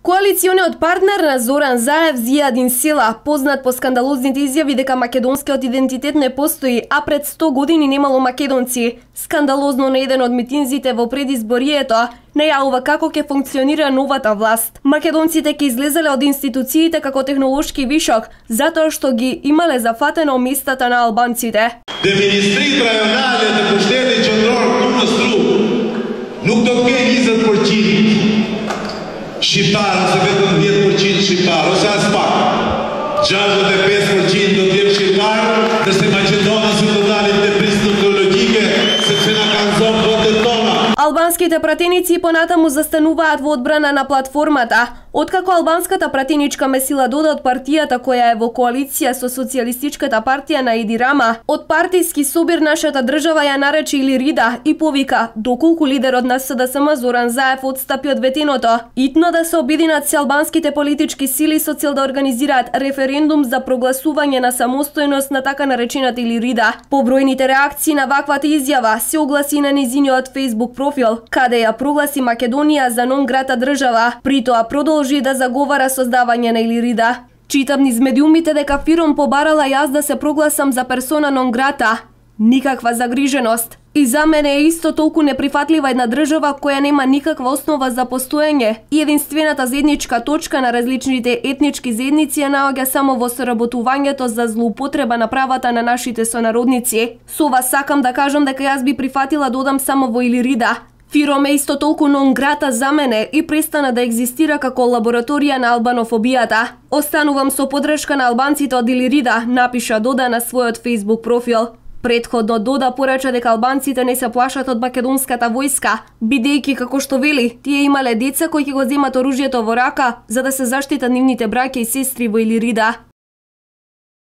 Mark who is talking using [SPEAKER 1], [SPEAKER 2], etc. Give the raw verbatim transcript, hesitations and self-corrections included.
[SPEAKER 1] Коалициониот партнер на Зоран Заев, Зијадин Села, познат по скандалозните изјави дека македонскиот идентитет не постои, а пред сто години немало македонци, скандалозно на еден од митинзите во предизборието, најавува како ќе функционира новата власт. Македонците ќе излезеле од институциите како технолошки вишок, затоа што ги имале зафатено местата на албанците.
[SPEAKER 2] De ministrit rajonale të pushtetit qendror këtu në Struk nuk do të kenë njëzet përqind shqiptar ose vetëm dhjetë përqind shqiptar ose as pak. gjashtëdhjetë e pesë përqind do të jenë shqiptar, ndërsa maqedonët do të dalin te prizë teologjike sepse na kanë zonë votet tona.
[SPEAKER 1] Албанските пратеници понатаму застануваат во одбрана на платформата, откако албанската пратеничка Месила Дода од партијата која е во коалиција со социјалистичката партија на Еди Рама, од партиски собир нашата држава ја нарече Илирида и повика доколку лидерот на С Д С М Зоран Заев отстапи од ветеното, итно да се обединат се албанските политички сили со цел да организираат референдум за прогласување на самостојност на така наречената Илирида. Побројните реакции на ваквата изјава се огласи на незиниот Facebook профил, каде ја прогласи Македонија за нон грата држава, при тоа продолжи да заговара создавање на Илирида. Читам низ медиумите дека Фиром побарала јас да се прогласам за персона нон грата. Никаква загриженост. И за мене е исто толку неприфатлива една држава која нема никаква основа за постоење и единствената заедничка точка на различните етнички заедници ја наоѓа само во соработувањето за злоупотреба на правата на нашите сонародници. Со ова сакам да кажам дека јас би прифатила да одам само во Илирида. Фиром е исто толку нон грата за мене и престана да екзистира како лабораторија на албанофобијата. Останувам со подршка на албанците од Илирида, напиша Дода на својот Facebook профил. Предходно Дода порача дека албанците не се плашат од македонската војска, бидејќи како што вели, тие имале деца кои ќе го земат оружјето во рака за да се заштитат нивните браќа и сестри во Илирида.